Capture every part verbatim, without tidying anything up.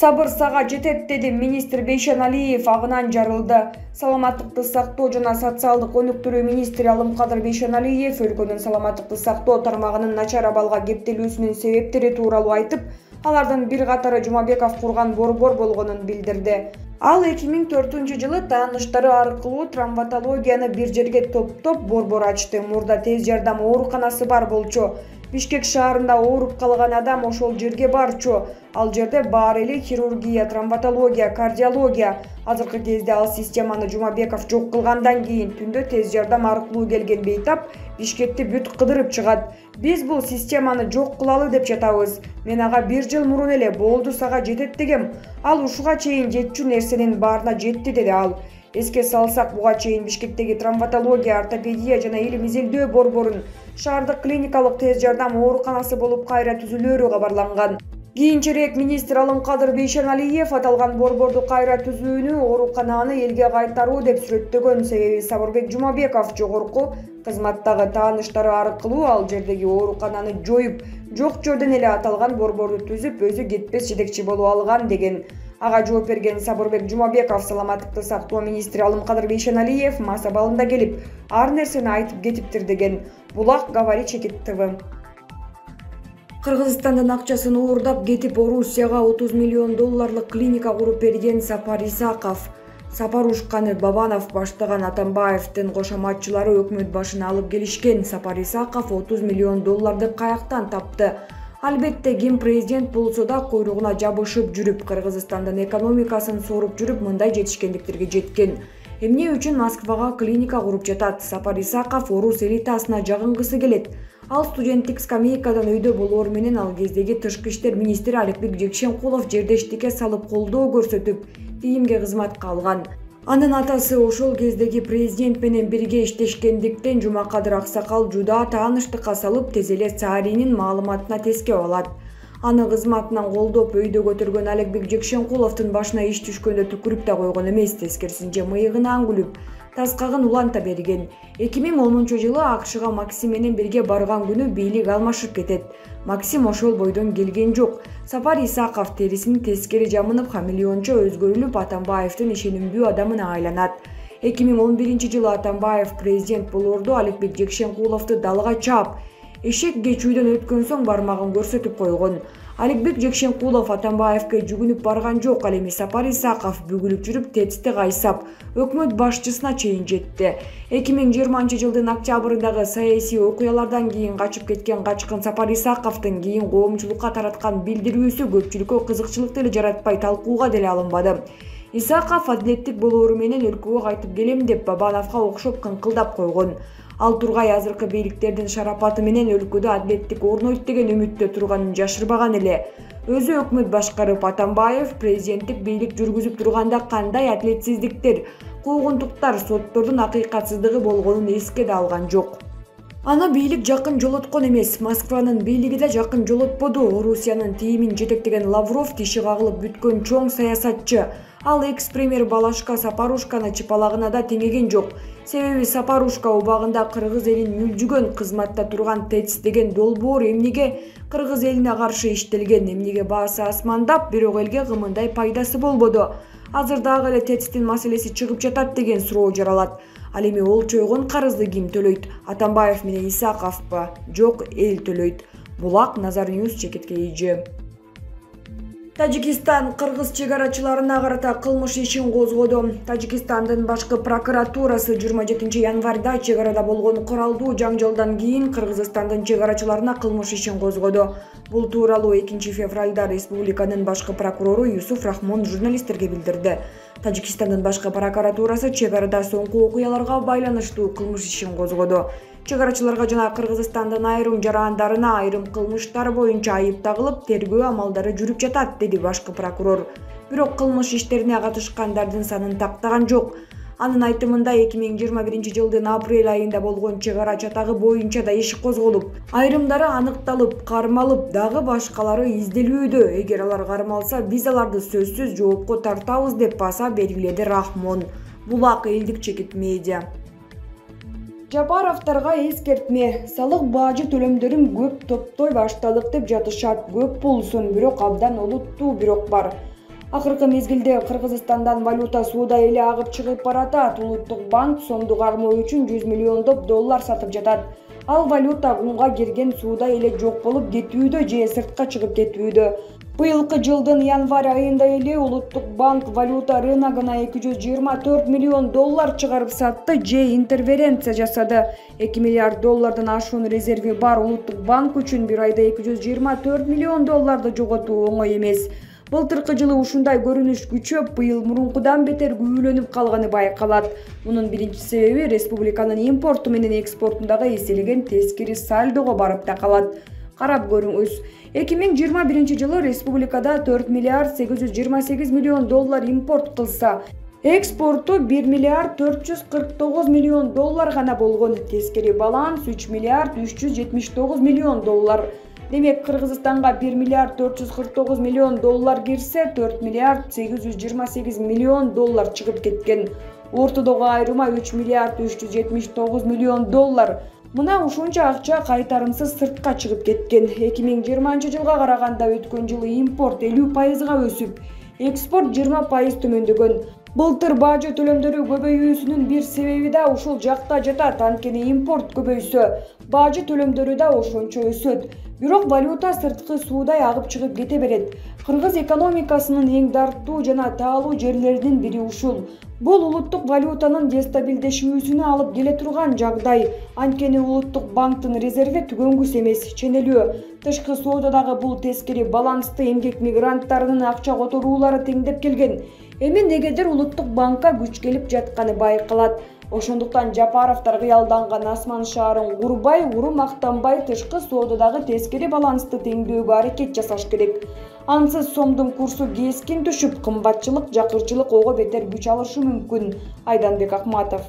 Сабыр сага жетет, деди министр Бейшеналиев. Агынан жарылды. Саламаттыкты сактоо жана социалдык өнүктүрүү министри Алымкадыр Бейшеналиев өлкөнүн саламаттыкты сактоо тармагынын начар абалга кептелүүсүнүн себептери тууралуу айтып, алардын бир катары Жумабеков курган борбор болгонун билдирди. Ал эки миң төртүнчү жылы тааныштары аркылуу травматологияны бир жерге топтоп борбор ачты. Мурда тез жардам ооруканасы бар болчу. Бишкек шаарында ооруп калган адам ошол жерге барчу. Ал жерде бар эли хирургия, травматология, кардиология. Азыркы кезде ал системаны Жумабеков жок кылгандан кийин түндө тез жардам аркылуу келген бейтап Бишкекти бүт кыдырып чыгат. Биз бул системаны жок кылалы деп жатабыз. Мен ага бир жыл мурун эле болду сага жетет дегем. Ал ушуга чейин жетчү нерсенин баарына жетти, деди ал. Эске салсак, буга чейин Бишкектеги травматология, ортопедия жана илим изилдөө борборун шаардык клиникалык тез жардам ооруканасы болуп кайра түзүлөөрү кабарланган. Кийинчерээк министр Алымкадыр Бейшеналиев аталган борборду кайра түзүүнү оорукананы элге кайтаруу деп сүрөттөгөн. Себеби Сабырбек Жумабеков жогорку кызматтагы тааныштары аркылуу ал жердеги оорукананы жоюп, жок жерден эле аталган борборду түзүп, өзү кетпес жетекчи болуп алган деген. Ага жооп берген Сабырбек Жумабеков саламаттыкты сактоо министри Алымкадыр Бейшеналиев мас абалында келип, ар нерсени айтып кетиптир деген. Булак Говори Чекит ТВ. Кыргызстандын акчасын уурдап кетип Орусияга отуз миллион долларлык клиника куруп берген Сапар Исаков. Сапарушканы Бабанов баштаган Атамбаевдин кошоматчылары өкмөт башына алып келишкен. Сапар Исаков отуз миллион долларды каяктан тапты? Албетте, ким президент болсо да куйругуна жабышып жүрүп, Кыргызстандын экономикасын соруп жүрүп, мындай жетишкендиктерге жеткен. Эмне үчүн Москвага клиника куруп жатат? Сапар Исаков орус элитасына жагынгысы келет. Ал студенттик скамейкадан өйдө болоор менен ал кездеги тышкы иштер министри Аликбек Жекшенкулов жердештикке салып колдоо көрсөтүп, тиимге кызматка алган. Анын атасы ошол кездеги президент менен бирге иштешкендиктен Жумакадыр Аксакал жуда тааныштыкка салып, тез эле Царинин маалыматына тескеп алат. Аны кызматынан колдоп өйдө көтөргөн Аликбек Жекшенкуловдун башына иш түшкөндө түкүрүп да койгон эмес, тескерисинче мыйыгынан күлүп, таскагын уланта берген. эки миң онунчу жылы АКШга Максим менен бирге барган күнү бийлик алмашып кетет. Максим ошол бойдон келген жок. Сапар Исаков терисин тескери жамынып, хамелеончо өзгөрүлүп, Атамбаевдин ишенимдүү адамына айланат. эки миң он биринчи жылы Атамбаев президент болоордо Аликбек Жекшенкуловду далга чаап, эшек кечүүдөн өткөн соң бармагын көрсөтүп койгон. Аликбек Жекшенкулов Атамбаевге жүгүнүп барган жок, ал эми Сапар Исаков бүгүлүп жүрүп тетисти кайсап, өкмөт башчысына чейин жетти. эки миң жыйырманчы жылдын октябрындагы саясий окуялардан кийин качып кеткен качкын Сапар Исаковдун кийин коомчулукка тараткан билдирүүсү көпчүлүккө кызыкчылык деле жаратпай, талкууга деле алынбады. Исаков адилеттик болоору менен өлкөгө кайтып келем деп Бабановго окшоп кыңкылдап койгон. Ал Тургай азыркы бийликтердин шарапаты менен өлкөдө адилеттик орнойт деген үмүттө турганын жашырбаган эле. Өзү өкмөт башкарып, Атамбаев президенттик бийлик жүргүзүп турганда кандай адилетсиздиктер, куугунтуктар, соттордун акыйкатсыздыгы болгонун эске да алган жок. Аны бийлик жакын жолоткон эмес, Москванын бийлиги да жакын жолотподу. Орусиянын тиимин жетектеген Лавров тиши кагылып бүткөн чоң саясатчы. Ал экс-премьер Балашка Сапарушканы чыпалагына да теңеген жок. Себеби Сапарушка убагында кыргыз элин мүлжүгөн, кызматта турган ТЭЦ деген долбоор эмнеге кыргыз элине каршы иштелген, эмнеге баасы асмандап, бирок элге кымындай пайдасы болбоду. Азыр дагы эле ТЭЦтин маселеси чыгып жатат деген суроо жаралат. Ал эми ол чойгон карызды ким төлөйт? Атамбаев менен Исаковпу? Жок, эл төлөйт. Булак Назар Ньюс Чекитке ийжи. Тажикистан кыргыз чегарачыларына карата кылмыш ишин козгоду. Тажикстандын башкы прокуратурасы жыйырма жетинчи январда чегарада болгон куралдуу жаңжалдан кийин Кыргызстандын чегарачыларына кылмыш ишин козгоду. Бул тууралуу экинчи февралда республиканын башкы прокурору Юсуф Рахмон журналисттерге билдирди. Тажикстандын башкы прокуратурасы чегарада соңку окуяларга байланыштуу кылмыш ишин козгоду. Чегарачыларга жана Кыргызстандын айрым жарандарына айрым кылмыштар боюнча айып тагылып, тергөө амалдары жүрүп жатат, деди башкы прокурор. Бирок кылмыш иштерине катышкандардын санын тактаган жок. Анын айтымында эки миң жыйырма биринчи жылдын апрель айында болгон чегара чатагы боюнча да иш козголуп, айрымдары аныкталып, кармалып, дагы башкалары изделүүдө. Эгер алар кармалса, биз аларды сөзсүз жоопко тартабыз деп баса белгиледи Рахмон. Булак элдик Чекит медиа. Жапаровторго эскертме. Салык бажы төлөмдөрүн көп топтой баштадык деп жатышат. Көп болсун, бирок абдан олуттуу бирок бар. Акыркы мезгилде Кыргызстандан валюта сууда эле агып чыгып баратат. Улуттук банк сомду кармоо үчүн жүз миллиондоп доллар сатып жатат. Ал валюта кумга кирген сууда эле жок болуп кетүүдө же сыртка чыгып кетүүдө. Быйылкы жылдын январь айында эле Улуттук банк валюта рыногуна эки жүз жыйырма төрт миллион доллар чыгарып сатты же интервенция жасады. эки миллиард доллардан ашуун резерви бар Улуттук банк үчүн бир айда эки жүз жыйырма төрт миллион долларды жоготуу оңой эмес. Былтыркы жылы ушундай көрүнүш күчөп, быйыл мурункудан бетер күйүлөнүп калганы байкалат. Мунун биринчи себеби республиканын импорту менен экспортундагы эселеген тескери сальдого барып такалат. Карап көрүңүз. эки миң жыйырма биринчи жылы республикада төрт миллиард сегиз жүз жыйырма сегиз миллион доллар импорт кылса, экспорту бир миллиард төрт жүз кырк тогуз миллион доллар гана болгон. Тескери баланс үч миллиард үч жүз жетимиш тогуз миллион доллар. Демек, Кыргызстанга бир миллиард төрт жүз кырк тогуз миллион доллар кирсе, төрт миллиард сегиз жүз жыйырма сегиз миллион доллар чыгып кеткен. Ортодогу айырма үч миллиард үч жүз жетимиш тогуз миллион доллар. Мына ушунча акча кайтарымсыз сыртка чыгып кеткен. эки миң жыйырманчы жылга караганда өткөн жылы импорт элүү пайызга өсүп, экспорт жыйырма пайыз төмөндөгөн. Былтыр бажы төлөмдөрү көбөйүүсүнүн бир себеби да ушул жакта жатат. Анткени импорт көбөйсө, бажы төлөмдөрү да ошончо өсөт. Бирок валюта сырткы суудай агып чыгып кете берет. Кыргыз экономикасынын эң дарттуу жана таалуу жерлеринин бири ушул. Бул улуттук валютанын дестабилдешүүсүнө алып келе турган жагдай. Анткени Улуттук банктын резерви түгөнгүс эмес, ченелүү. Тышкы соодадагы бул тескери балансты эмгек мигранттарынын акча которуулары теңдеп келген. Эми негедир Улуттук банкка күч келип жатканы байкалат. Ошондуктан Жапаровдор кыялданган асман шаарын курбай, уру мактанбай тышкы соодадагы тескери балансты теңдөөгө аракет жасаш керек. Ансыз сомдун курсу кескин түшүп, кымбатчылык, жакырчылык ого бетер күч алышы мүмкүн. Айданбек Акматов.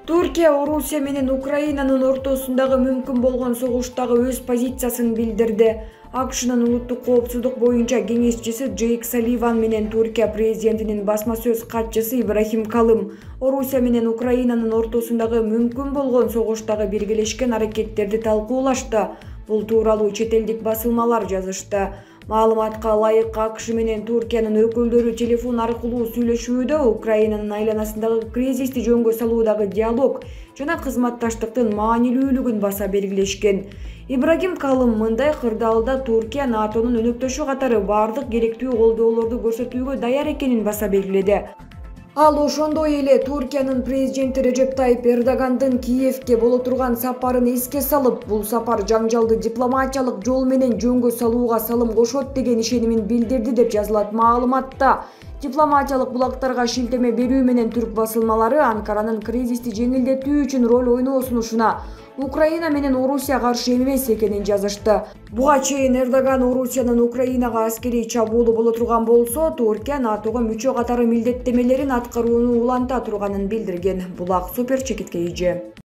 Туркия Орусия менен Украинанын ортосундагы мүмкүн болгон согуштагы өз позициясын билдирди. АКШнын улуттук коопсуздук боюнча кеңешчиси Джейк Салливан менен Туркия президентинин басма сөз катчысы Ибрахим Калым Орусия менен Украинанын ортосундагы мүмкүн болгон согуштагы биргелешкен аракеттерди талкуулашты. Бул тууралуу чет элдик басылмалар жазышты. Маалыматка ылайык, АКШ менен Туркиянын өкүлдөрү телефон аркылуу сүйлөшүүдө Украинанын айланасындагы кризисти жөнгө салуудагы диалог жана кызматташтыктын маанилүүлүгүн баса белгилешкен. Ибрагим Калым мындай кырдаалда Туркия НАТОнун өнөктөшү катары бардык керектүү колдоолорду көрсөтүүгө даяр экенин баса белгиледи. Ал ошондой эле Туркиянын президенти Режеп Тайип Эрдогандын Киевке боло турган сапарын эске салып, бул сапар жаңжалды дипломатиялык жол менен жөнгө салууга салым кошот деген ишенимин билдирди деп жазылат маалыматта. Дипломатиялык булактарга шилтеме берүү менен түрк басылмалары Анкаранын кризисти жеңилдетүү үчүн роль ойноосунушуна Украина менен Орусия каршы эмес экенин жазышты. Буга чейин Эрдоган Орусиянын Украинага аскерий чабуулу боло турган болсо, Туркия НАТОго мүчө катары милдеттемелерин аткарууну уланта турганын билдирген. Булак супер чекитке ийже.